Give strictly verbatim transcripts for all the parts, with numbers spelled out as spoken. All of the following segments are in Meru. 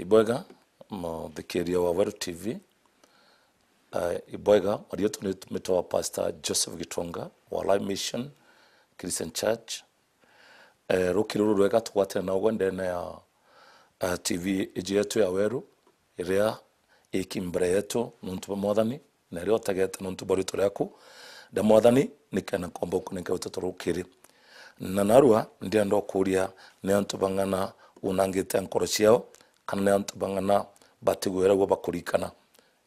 Ibwega, muthikiria wa Weru T V. Eh, ibwega, marietwa ni mitwa wa Pastor Joseph Gitonga wa Life Mission Christian Church. Eh, rukiri ruru rwega tugwatene na ugwe ndene ya, eh, T V iji yetu ya Weru, iria iki mbere yetu nontu bwa Mwathani, na iria utegete nontu bwa ritwa riaku ria Mwathani, nikenda nkomba ukunenke uteto rukiri. Na narua ndienda ukuria ni antu bang'ana unangite nkoro ciao, kana ni antu bang'ana batigwira ugwe bakurikana.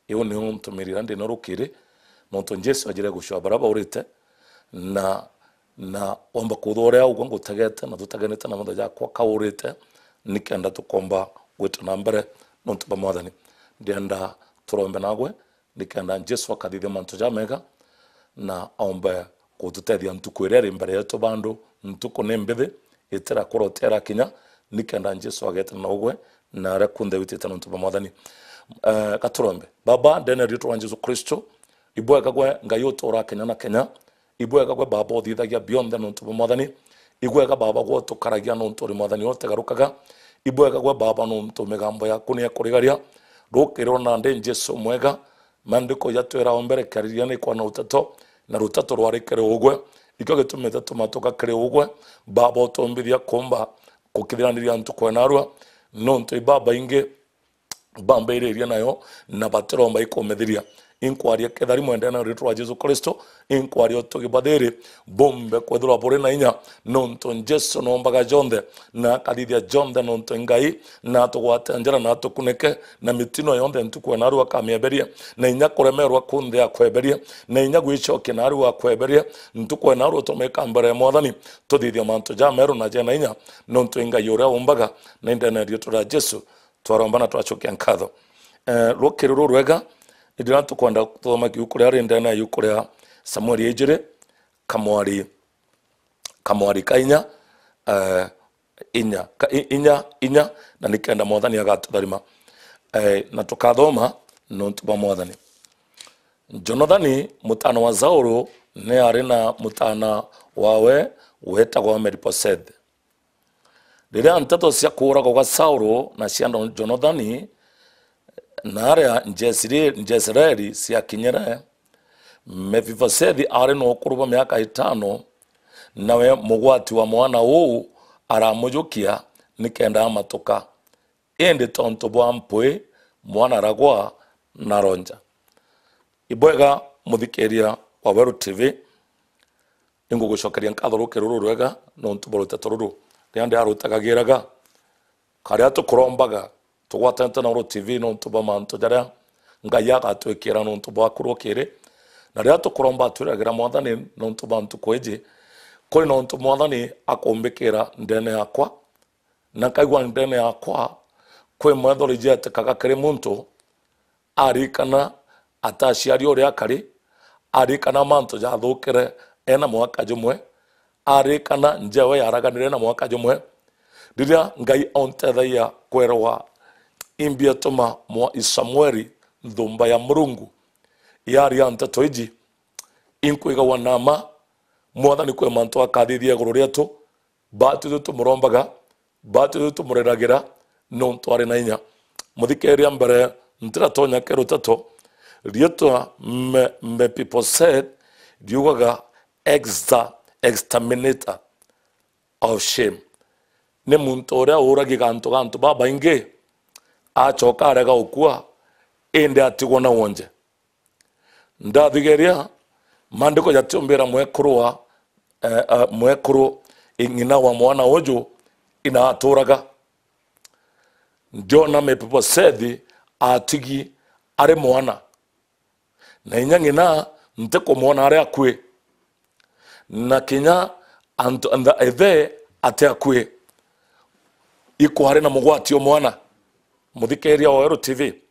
Iu niu ntumirira ndino rukiri, nontu Jesu ajire gucua baria baurite, na, na omba kuthwa uria ugwe ngutegete na tutagenete na mantha jakwa kaurite, nikenda tukomba gwita na mbere nontu bwa Mwathani. Ndienda turombe nagwe, nikenda Jesu akathithia mantu jamega, na aombe gututethia ntuku iria iri mbere yetu bandu. Ntuku ni mbithi, itira kurotera kinya, nikenda Jesu agetana na ugwe na aria kunthe witite nontu bwa Mwathani. Eh, gaturombe. Baba, ndene ya ritwa ria Jesu Kristo, ibwega gwe Ngai utura kenya na kenya, ibwega gwe Baba uthithagia bionthe nontu bwa Mwathani, ibwega Baba gwe utukaragia nontu uri Mwathani utegarukaga, ibwega gwe Baba nontu migambo yaku ni ya kurigaria, rukiri rwa nandi Jesu mwega, Maandiko jatwira o mbere, kiaririria ni kwa na ruteto, na ruteto rwari kiri ugwe. Ikio gitumite tumatuka kiri ugwe. Baba, utumbithia kumba kukithiraniria ntuku ya narua, nontu i babaingi bambiririe nayo na batiromba ikumithiria. Inkwaria kethari mwendene na ritwa ria Jesu Kristo, inkwaria utugi bwa thiri bumbe kwithirwa buri na inya, nontu Jesu noombaga jonthe, na akathithia jonthe nontu i Ngai, na atugwate njira, na atukunike na mitino yonthe ntuku ya narua akamieberia, na inya kuremerwa kunthe akweberia, na inya gwicokia narua akweberia. Ntuku ya narua tumika mbere ya Mwathani, tuthithia mantu jameru na jena inya, nontu i Ngai uria umbaga, na indene ya ritwa ria Jesu twaromba na twacokia nkatho. Eh, rukiri ruru rwega, ndira tukwenda kuthoma kiuku ria ri ndene ya iuku ria Samueli ijiri, kamwari kamwari ka inya, eh, inya, ka, i, inya, inya, na nikenda Mwathani agatutharima. Eh, na tukathoma nontu bwa Mwathani. Jonathani, mutana wa Saulu, ni ari na mutana wawe wetagwa Mephibosethe. Riria nteto cia kuuragwa gwa Saulu na cia Jonathani na aria Jesiri-, Jesireeli ciakinyire, Mefibosethi aari na ukuru bwa miaka itano, nawe mugwati wa mwana uu aramujukia nikenda amatuka. Indi tontu bwa mpwi, mwana aragwa na aronja. Ibwega muthikiria wa Weru T V, ingugucokeria nkatho rukiri ruru rwega nontu bwa ruteto ruru. Riria ndiarutagagiraga, karia tukurombaga, tugwatanite na Weru T V nontu bwa mantu jaria Ngai agatwikira nontu bwaku rukiri. Na riria tukuromba, twiragira Mwathani nontu bwa ntuku iji, kuri na untu Mwathani akumbikira ndene yakwa, na nkaigua ndene yakwa kwi mwethori jetikaga kiri muntu, arikana ataciari uria akari, arikana mantu jathukire ena mwaka jumwe, arikana njewe yaraganire na mwaka jumwe. Riria Ngai auntethagia kwerwa imbi atuma mwa Samueli nthumba ya Murungu yaria nteto iji, inkwigagwa na ma, Mwathani kwi mantu akathithia iguru rietu, Baatwi twi tumurombaga, baatwi twi tumureragira, nontu ari na inya. Muthikiria, mbere ntiratonya kiri uteto, riitwa Me-, Mepiboset riugaga exter-, exterminator of shame. Ni muntu uria uragia gantu ga antu babaingi, acoka arega ukua, indi atigwa na wonje. Ndathigeria, maandiko jatiumbira mwekuru wa, eh, eh, mwekuru ng'ina wa mwana uju ina aturaga. Ndiona Mepibosethi atigi ari mwana. Na inya ng'ina ntikumwona ari akui. Na kinya antu, antha-, ithe ati akui. Ikwari na mugwati o mwana. Muthikiria wa Weru T V.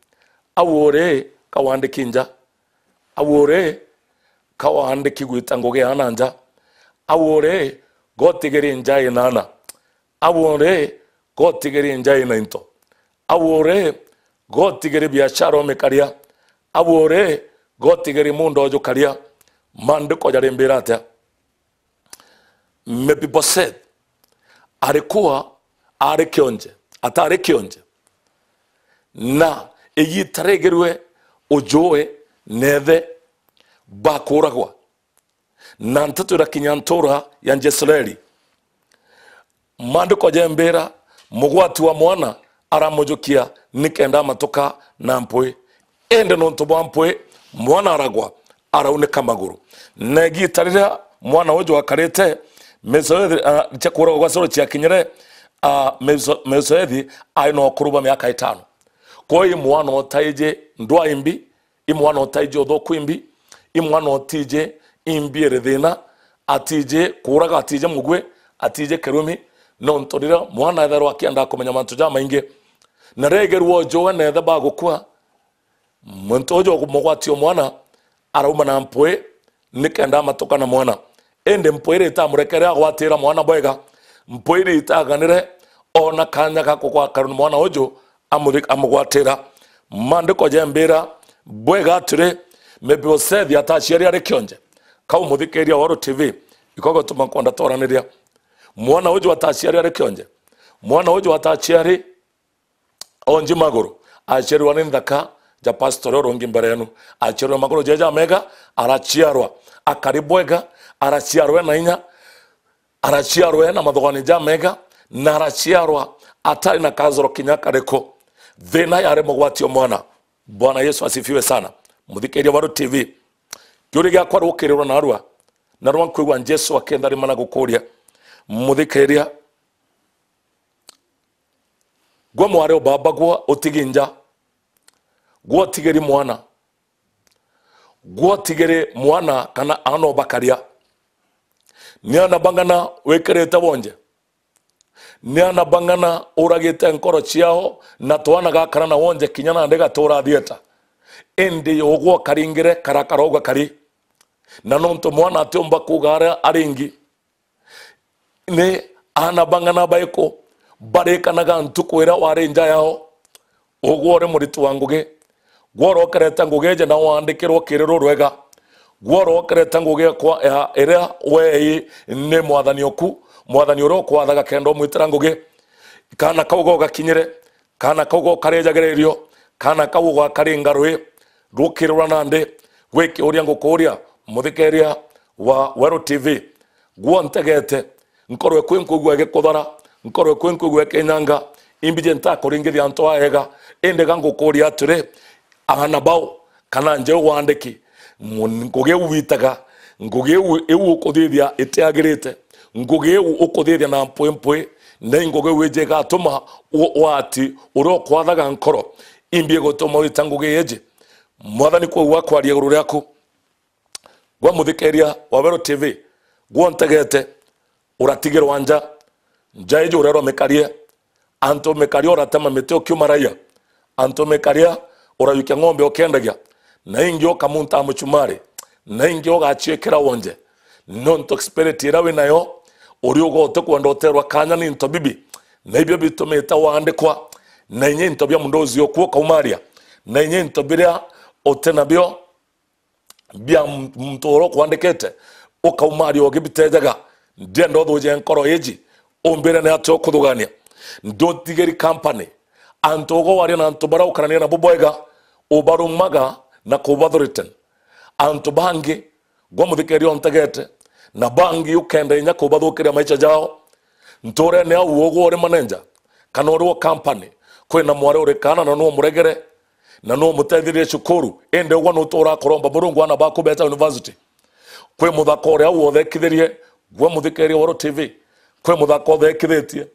Au uri kawandiki nja. Au uri kawandiki gwita ngugi ya na nja. Au uri gotigiri nja inana. Au uri gotigiri nja ina into. Au uri gotigiri biashara umikaria. Au uri gotigiri muunda ujukaria. Maandiko jarimbira atia? Mepiboset alikuwa ari kionje, atari kionje. Na igiita rigerwe ujue neethe bakuragwa. Na nteto irakinya ntuura ya Jezreeli. Maandiko jembira, mugwati wa mwana aramujukia nikenda amatuka na mpwi. Indi nontu bwa mpwi, mwana aragwa, araunika maguru. Na igiita riria mwana uju akarite, Mesoethi, ah, cia kuuragwa gwa Saulu ciakinyire, ah, Meso-, Mesoethi aari na ukuru bwa miaka itano. Kwou i mwana utaiji ndwaa imbi, i mwana utaiji uthuku imbi, i mwana utiji imbi iri thina, atiji kuuraga, atiji mugwi, atiji kirumi, nontu riria mwana ethairwa akienda kumenya mantu jamaingi, na rigerwa ujue neetha bagukua, muntu uju mugwati o mwana arauma na mpwi nikenda amatuka na mwana. Indi mpwi iri itamurekere agwatira mwana bwega, mpwi iri itaganire ona kanya ga kugwakara na mwana uju amuthi-, amugwatira. Maandiko jembira bwega atiri, Mefibosethi ataciari ari kionje. Kau muthikiria wa Weru T V, iko gutuma nkwenda twaraniria. Mwana uju ataciari ari kionje. Mwana uju ataciari onji maguru. Aciarirwa ni nthaka ja pastor uria urungi mbere yenu. Aciarirwa maguru jeja mega, araciarwa akari bwega, araciarwa ena inya, araciarwa ena mathogani ja mega, na araciarwa atari na kasoro kinya kariku. Thina yari mugwati o mwana. Bwana Yesu asifiwe sana. Muthikiria wa Weru T V, kiuria giakwa rukirirwa narua, narua nkwigua Jesu akentharima na gukuria. Muthikiria, gwe mwari o baba, gwe utigi nja, gwe utigiri mwana, gwe utigiri mwana kana aana o bakaria. Ni aana bang'ana wikirite wonje? Ni aana bang'ana uragite nkoro ciao, na twana gakara na wonje kinya nandi gatuura thieta? Indi ugwe ukaringire karakara ugwe kari. Na nontu mwana atiumba kuuga aria aringi, ni aana bang'ana baiku barikanaga ntuku iria wari nja yao? Ugwe uri muriti wa ngugi, gwe urokerete ngugi iji na waandikirwo kiriro rwega, gwe urokerete ngugi kwa, ya, iria weei ni mwathani oku, mwathani uria ukwathaga kenda umwitira ngugi. Kaana kau gogakinyire, kaana kau gokarijagira irio, kaana kau ugakaringa rui, rukirirwa nandi? Gwi kiuria ngukuria, muthikiria wa Weru T V, gwe untegete, nkoro eku inkwigua igikuthara, nkoro eku inkwigua ikinyanga, imbiji ntakuringithia antu aega, indi ga ngukuria atiri, aana bau, kana nja iu waandiki, mu-, ngugi iu witaga, ngugi iu, iu ukuthithia itiagirite, ngugi iu ukuthithia na mpwi mpwi, na i ngugi iu iji igatuma u-, wati uria ukwathaga nkoro, imbi igutuma wita ngugi iji? Mwathani kwou akwaria iguru riaku. Gwe muthikiria wa Weru T V, gwe untegete, uratigirwa nja, nja iji urerwa mikarie, antu mikaria uratema miti ukiuma raia, antu mikaria urayukia ng'ombe ukiendagia, na ingi ukamunta muchumari, na ingi ugaciikira wonje, nontu spirit iria wi nayo uri uga utikwenda uterwa kanya ni into bibi, na ibio bitumite waandikwa, na inya into bia mundu ucio uku ukaumaria, na inya into biria uti nabio bia m-, muntu uria ukwandikite, ukaumaria ugibitejaga. Ndienda uthuje nkoro iji, umbire ni atia ukuthugania. Ndutigiri company, antu uga waria na antu baria ukarania nabo bwega, ubarumaga na kubathreaten. Antu bangi, gwe muthikiria untegete, na bangi ukenda inya kubathukiria maisha jao. Nturene au ugwe uri manager, kana uri wa company, kwina mwari uri kaana na nu umuregere, na nu umutethirie cukuru, indi ugwe nutura kuromba Murungu aana baku beeta university. Kwi muthaka uria au uthekithirie, gwe muthikiria wa Weru T V, kwi muthaka uthekithitie,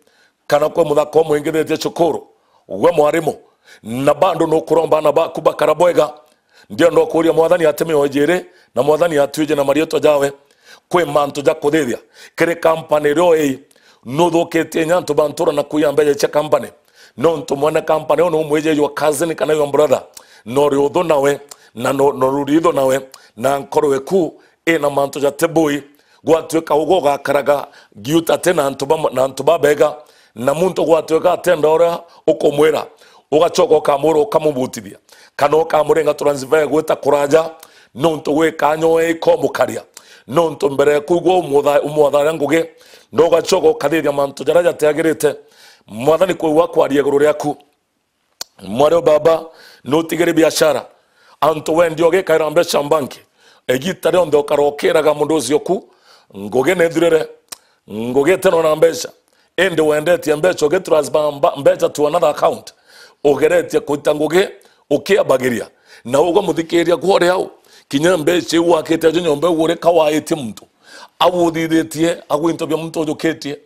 kana kwi muthaka umwingithitie cukuru, gwe mwarimu, na bado nukuromba aana baku bakara bwega. Ndienda ukuria Mwathani ati mioyo jiri, na Mwathani atwije na marietwa jawe. Kwi mantu ja kuthithia kiri company iria ii, nuthukitie inya antu ba ntura na kuiya mbeca cia company, nontu mwene company uu numwije your cousin kana your brother, na uri uthu nawe, na no, no ruri ithu nawe, na nkoro eku ina mantu jati bui. Gwatuika ugwe ugakaraga giutate na antu ba, na antu babega, na muntu gwatuika atenda uria ukumwira, ugacoka ukamwira ukamubutithia, kana ukamurenga transfer gwita kuraja, nontu gwi kanya we ikomukaria, nontu mbere ya kuigua umutha-, umwatharia ngugi, na ugacoka ukathithia mantu jaria jatiagirite. Mwathani kwou akwaria iguru riaku. Mwari o baba, nutigire biashara. Antu wendi ugikaira mbeca mbanki. Igita rionthe ukarokiraga mundu ucio ku, ngugi nithirire, ngugi itino na mbeca. Indi wendetie mbeca ugitransfer mba-, mbeca to another account. Ugeretie kuita ngugi ukiambagiria. Na ugwe muthikiria kwori au, kinya mbeca iu wakite ajo nyomba iu uri kawaitie muntu. Au uthithitie, au into bia muntu ujukitie.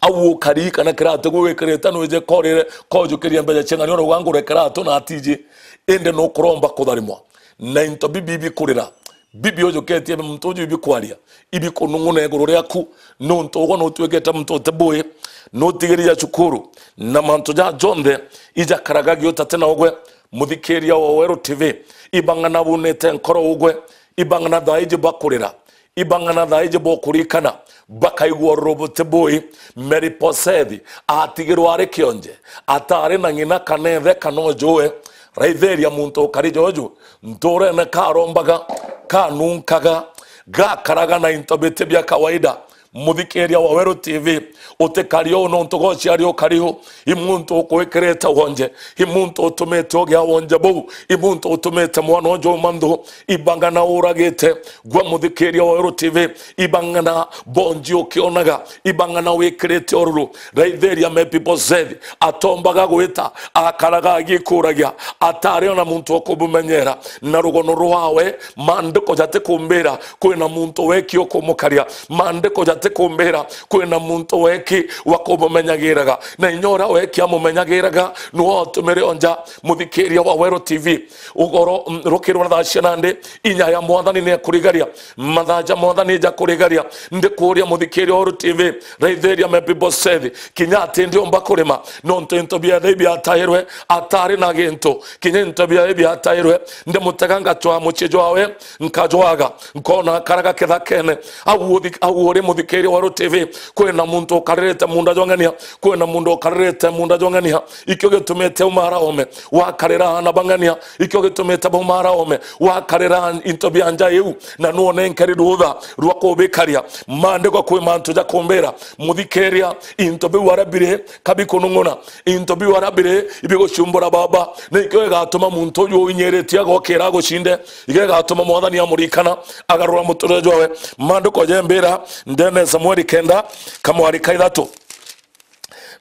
Au ukarikana kiratu gwi wikirite nwije korire kojukiria mbeca cia ng'ani oro gangure kiratu na atiji. Indi nukuromba kutharimwa. Na into bibi bikurira. Bibi ujukitie muntu uju ibikwaria. Ibikunung'una iguru riaku. Nuntu ugwe nutwikite muntu uti bui. Nutigiria cukuru. Na mantu ja jonthe ijakaraga giutate na ugwe. Muthikiria wa Weru T V. Ibang'ana bunite nkoro ugwe. Ibang'ana thaiji bakurira. Ibang'ana thaiji bokurikana, bakaigua ururu buti bui. Meriposethi atigirwe ari kionje, atari na ng'ina kana ithe kana ujue. Raithiria muntu ukari joju, nturene karombaga, kanunkaga, gakaraga na into biti bia kawaida. Muthikiria wa Weru T V, utikari uu nontu gociari ukari u, i muntu ukwikirite wonje, i muntu utumite ugia wonje buu, i muntu utumite mwana uju uma nthu, ibang'ana uragite, gwa muthikiria wa Weru T V, ibang'ana bonji ukionaga, ibang'ana wikirite ururu, raithiria Mepiboseth, atombaga gwita, akaraga agikuragia, atari ona muntu ukumumenyera, na rugono rwawe, maandiko jatikumbira kwina muntu weki ukumukaria, maandiko jatikumbira kwina muntu weki wa kumumenyagiraga, na inya uria weki amumenyagiraga, niwe otumire onja. Muthikiria wa Weru T V, ugoro, mm, rukirwa thaa cia nandi, inya ya Mwathani niekurigaria, mathaa ja Mwathani jakurigaria. Ndikuria muthikiria wa Weru T V, raithiria Mepiboseth, kinya ati ndiumba kurima, nontu into biathe ibiatairwe, atari na gintu, kinya into biawe ibiatairwe, ndimutega ngacwaa mucii jwawe, nkajwaga, nkona akaraga kithakene. Au uthi-, au uri muthikiria wa Weru T V, kwina muntu ukaririte munda jwa ng'ania, kwina muntu ukaririte munda jwa ng'ania, ikio gitumite umara ome, wakarira aana ba ng'ania, ikio gitumite baumara ome, wakarira into bia nja iu, na nuonenkeri rutha rwa kubikaria. Maandiko kwi mantu jakumbira, muthikiria, into biu aria biri, kabikunung'una, into biu aria biri, ibigucumbura baba, na ikio gigatuma muntu uju uinyiritie agokira agucinde, ikio gigatuma Mwathani amurikana, agarura muturire jwawe. Maandiko jembira, ndene Samueli kenda, kamwari ka ithatu.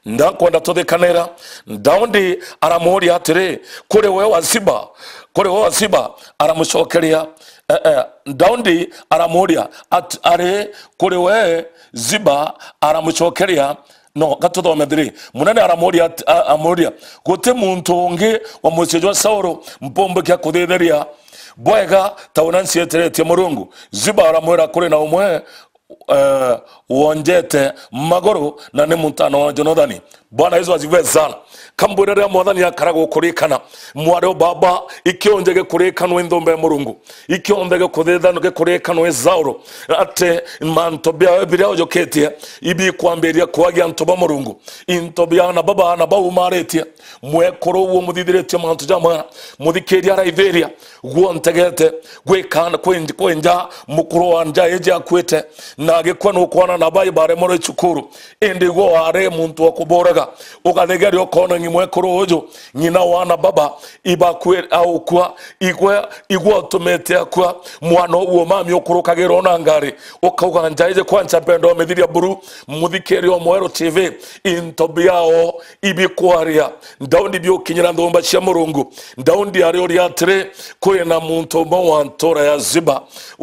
Ndakwenda tuthikanira. Daudi aramuuria atiri, "Kuri we wa Ziba?" Kuri we wa Ziba aramucokeria, eh, eh, Daudi aramuuria at-, ari, "Kuri we Ziba?" Aramucokeria, no, gatuthome thiri. Munene aramuuria at-, a-, amuuria, "Guti muntu ungi wa mucii jwa Saulu mpumbukia kuthitheria bwega ta uria ncieteretie Murungu?" Ziba aramwira, "Kuri na umwe, eh, wonjete maguru, na ni mutano wa Jonathani." Bwana Yesu asifiwe sana. Kambwire riria Mwathani akara gukurikana, mwari o baba, ikionje gikurikanwe nthumba ya Murungu, ikionthe gikuthithanwe gikurikanwe Saulu, ati mantu biawe biria ujukitie ibikwambiria kwagia antu ba Murungu, into bia ana baba ana baumaritie, mwekuru uo muthithiritie mantu ja mwana, muthikiria araithiria, guontegete, gwikana, kwenj-, kwenja mukuru wa nja iji akuite, na agikua nukwana na bai baremorwe cukuru, indi igwe wari muntu wa kuburaga, ugathegeria ukona ngi mwekuru uju, ng'ina wana baba, ibakue aukua, igwe, igwe utumite akua, mwana uguo mami ukurukagirwo na ngari, ukauga nja iji kwa ncha mpendo mithiria buru, muthikiria o Mweru T V, into biao ibikwaria. Daudi biukinyira nthumba cia Murungu. Daudi ariuria atiri, "Kwina muntu umwe wa ntura ya Ziba,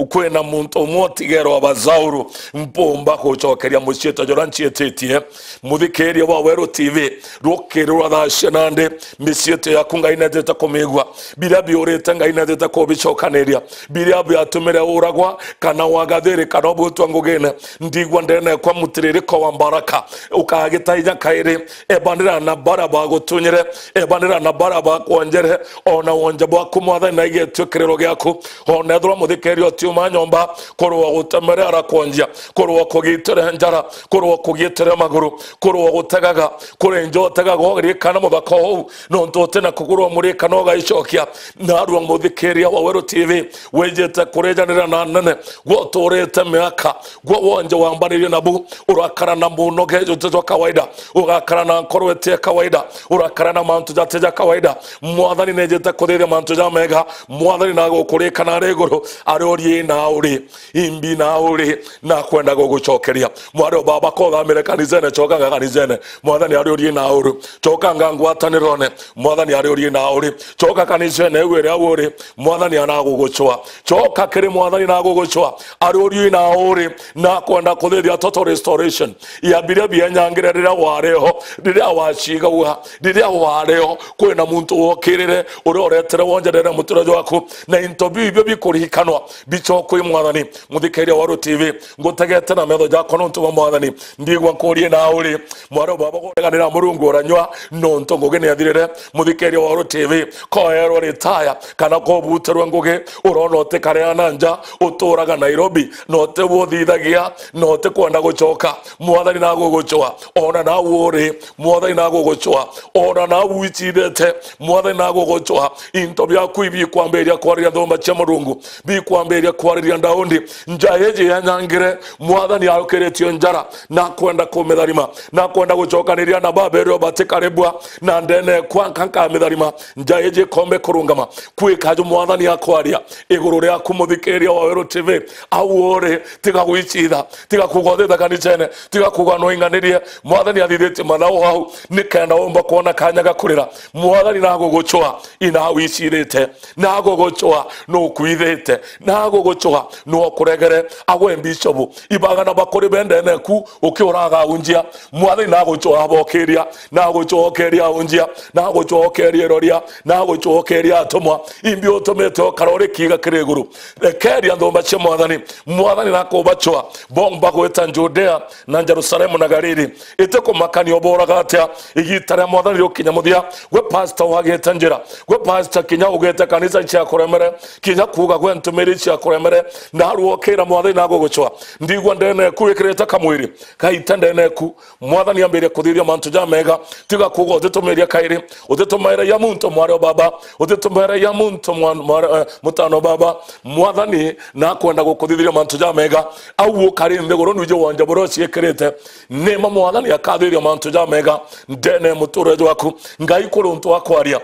kwina muntu umwe utigerwa ba Saulu, mpumba gucokeria muciitwa juria nciititie?" Muthikiria wa Weru T V, rukiri rwa thaa cia nandi, miciitwa yaku Ngai netete kumigua. Biria biurite Ngai netete kubicokaniria. Biria biatumire uragwa, kana wagathiri, kana ubutwa ngugine, ndigua ndene kwa mutiririko wa mbaraka. Ukagitaija kairi, ebanira na bara bagutunyire, ebanira na bara bakwonjere, ona wonje bwaku Mwathani na igetue kiriro giaku. Ona ethirwa muthikiria utiuma nyomba, kurwa gutemere arakwonje. kurwa kugitire njara, kurwa kugitire maguru, kurwa gutegaga, kuri nja utegaga uririkana muthaka uu, nontu utina kugurwa murikana ugaicokia. Narua muthikiria wa Weru T V, wijite kurijanira na nene, gwe uturite miaka, gwe wonje wambanirie nabu, urakara na munoge juju jwa kawaida, ugakara na nkoro iti ya kawaida, urakara na mantu jati ja kawaida. Mwathani nejite kuthithia mantu jamega, Mwathani nagukurikana ari iguru, ari urie na uri. Imbi na uri, nakwenda gugucokeria. Mwari o baba, kothamire kanisene, cokanga kanisene. Mwathani ari urie na uri. Cokanga ngwatanirone. Mwathani ari urie na uri. Coka kanisene iu iria uri. Mwathani anagugucwa. Coka kiri Mwathani nagugucwa. Ari urie na uri. Nakwenda kuthithia total restoration ya biria bienyangire riria wariho, riria wacigagua, riria wariho. Kwina muntu wokirire, uria uretere wonjerere muture jwaku. Na into biu ibio bikuririkanwa. Bichokwe Mwathani, muthikiria wa Weru T V, ngutegete na metho jakwa nontu bwa Mwathani, ndigwa nkurie na uri. Mwari o baba, gureganira Murungu uranyua, nontu ngugi ni athirire. Muthikiria wa Weru T V, koerwo ritaya, kana kobutirwe ngugi, urona utikarea na nja, uturaga Nairobi, na utibu uthithagia, na utikwenda gucoka. Mwathani nagugucwa, ona nau uri, Mwathani nagugucwa, ona nau wicithite, Mwathani nagugucwa. Into biaku ibikwambiria kwariria nthumba cia Murungu, bikwambiria kwariria ndaundi. Nja iji yanyangire, Mwathani aukiritie njara, nakwenda kumitharima, nakwenda gucokaniria na baba irio batikaribwa, na ndene kwa nka nkamitharima. Nja iji ikombe kurungama, kwika ju Mwathani akwaria iguru riaku, muthikiria wa Weru T V, au uri, tiga gwicitha, tiga kuga uthitha kanicene, tiga kuga no inganirie. Mwathani athithitie mathau au, nikenda umba kwona kanya ga kurira. Mwathani nagugucwa, inawicirite, nagugucwa, nukwithite, nagugucwa, nukuregere. Agwe bishopu, ibagana bakuri bendene ku, ukiuraga unjia. Mwathani nagucwa abokiria, nagucokeria unjia, nagucokeria iroria, nagucokeria atumwa. Imbi utumite ukara uri kiiga kiri iguru. Rekeria nthumba cia Mwathani. Mwathani nakubacwa, bomba gwita Judea na Jerusalemu na Galili. Itikumakania uburaga atia, igita ria Mwathani rigukinya muthia. Gwe pastor wagite njira, gwe pastor kinya ugite kanisa cia kuremere, kinya kuuga gwe ntumiri cia kuremere, narua ukira Mwathani nagugucwa. Ndigwa ndene ku ikirite kamwiri, gaita ndene ku. Mwathani ambirie kuthithia mantu jamega. Tiga kuuga utitumiria kairi, utitumaira ya muntu mwari o baba, utitumaira ya muntu mwa-, mwari, eh, mutano baba. Mwathani nakwenda gukuthithiria mantu jamega. Au ukari nthiguru nwiji wonje buria uciikirite. Nima Mwathani akathithia mantu jamega ndene muture jwaku. Ngai kuri untu wa kwaria.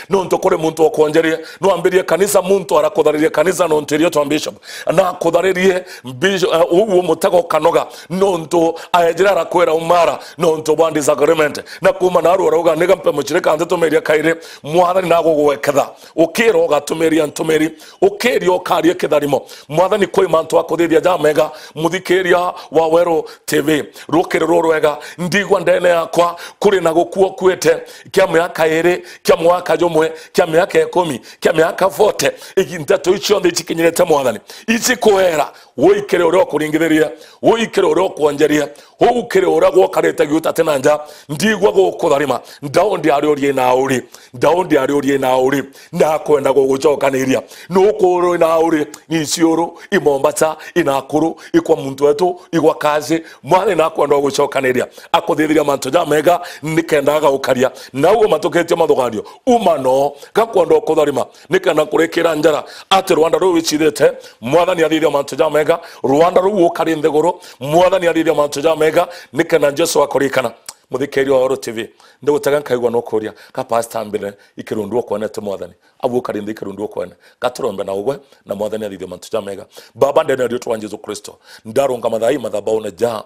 Nontu kuri muntu okwonjerie, nwambirie kanisa, muntu arakutharirie kanisa nontu irio twa bishop. Na akutharirie bishop, eh, uu umutega ukanoga nontu aejire arakwira umara nontu bwa disagreement. Na kuma naru arauga, "Niga mpe mucirika nthitumiria kairi." Mwathani nagugweketha. Ukira ugatumiria ntumiri, ukiria ukaria kitharimo. Mwathani kwi mantu akuthithia jamega, muthikiria wa Weru T V. Rukiri rurwega, ndigwa ndene yakwa kuri na gukua ukuite, kia miaka iri, kia mwaka jumwe, kia miaka ikumi, kia miaka forty, igi-, nteto ici cionthe icikinyirite Mwathani, icikwera, uikire uria ukuringithirie, uikire uria ukwonjerie, ukire uria gwokarite giuta ti na nja, ndigwa gukutharima, ndaundi ari urie na uri, ndaundi ari urie na uri, nakwenda gugucokaniria, nukuru na uri, ni Isiolo, i Mombasa, i Nakuru, i kwa muntu wetu, i gwa kazi, Mwathani nakwenda gugucokaniria, akuthithiria mantu jamega, nikenda agaukaria. Nauo matukitie mathuganio, uma no, gakwenda ukutharima, nikenda kurikira njara, ati rwanda ruu wicithite, Mwathani athithia mantu jamega, rwanda ruu ukari nthiguru, Mwathani athithia mantu jamega, nikenda Jesu akurikana. Muthikiria wa Weru T V, ndigutega nkaigua nukuria, ka pastor mbere ikirundu ukwonete Mwathani? Au ukari nthi ikirundu ukwene. Gaturombe na ugwe, na Mwathani athithie mantu jamega. Baba, ndene ya riitwa rwa Jesu Kristo, ndarungama thaa ii mathabaune ja,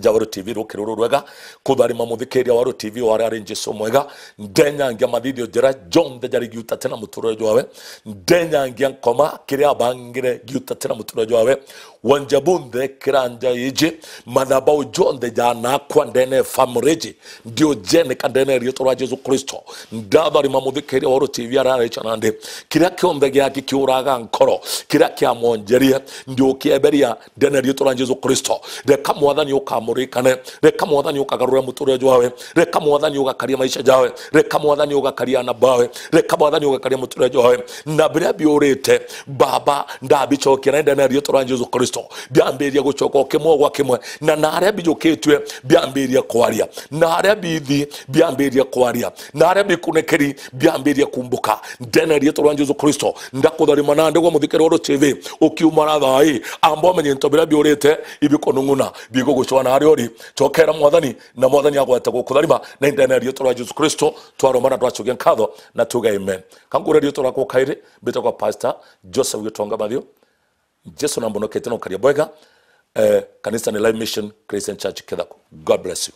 ja Weru T V rukiri ruru rwega, kutharima muthikiria wa Weru T V wari ari Jesu mwega, ndenyangia mathithio jara jonthe jari giuta ti na muturire jwawe, ndenyangia nkoma kiria abangire giuta ti na muturire jwawe, wonje bunthe kiranja iji, mathabau jonthe janakwa ndene family iji, ndiojeneka ndene ya riitwa rwa Jesu Kristo. Ndatharima muthikiria wa Weru T V ararica nandi. Kiria kionthe giaki kiuraga nkoro, kiria kiamwonjerie, ndiukieberia ndene ya riitwa rwa Jesu Kristo. Reka Mwathani ukamurikane, reka Mwathani ukagarure muturire jwawe, reka Mwathani ugakaria maisha jawe, reka Mwathani ugakaria ana bawe, reka Mwathani ugakaria muturire jwawe. Na biria biurite, Baba, ndabicokia na ndene ya riitwa rwa Jesu Kristo. biambiririe gucoka o kimwe gwa kimwe, na naria bijukitue biambiririe kwaria, naria bithi biambiririe kwaria, naria bikunekeri biambiririe kumbuka. Ndene riitwa rwa Jesu Kristo, ndakutharima na ndigwa muthikiri wa Rucivi, ukiuma na thaa ii, amba umenye into biria biurite ibikunung'una bigugucwa naria uri. Cokera Mwathani, na Mwathani agwete gukutharima, na indene riitwa rwa Jesu Kristo twaromba na twacokia nkatho na tuge amen. Kankuria riitwa rwakwa kairi, mbitagwa Pastor Joseph Gitonga Mathiu. Jesu nambonoketie na ukaria bwega. Eh, kanisa ni Live Mission Christian Church Kithaku. God bless you.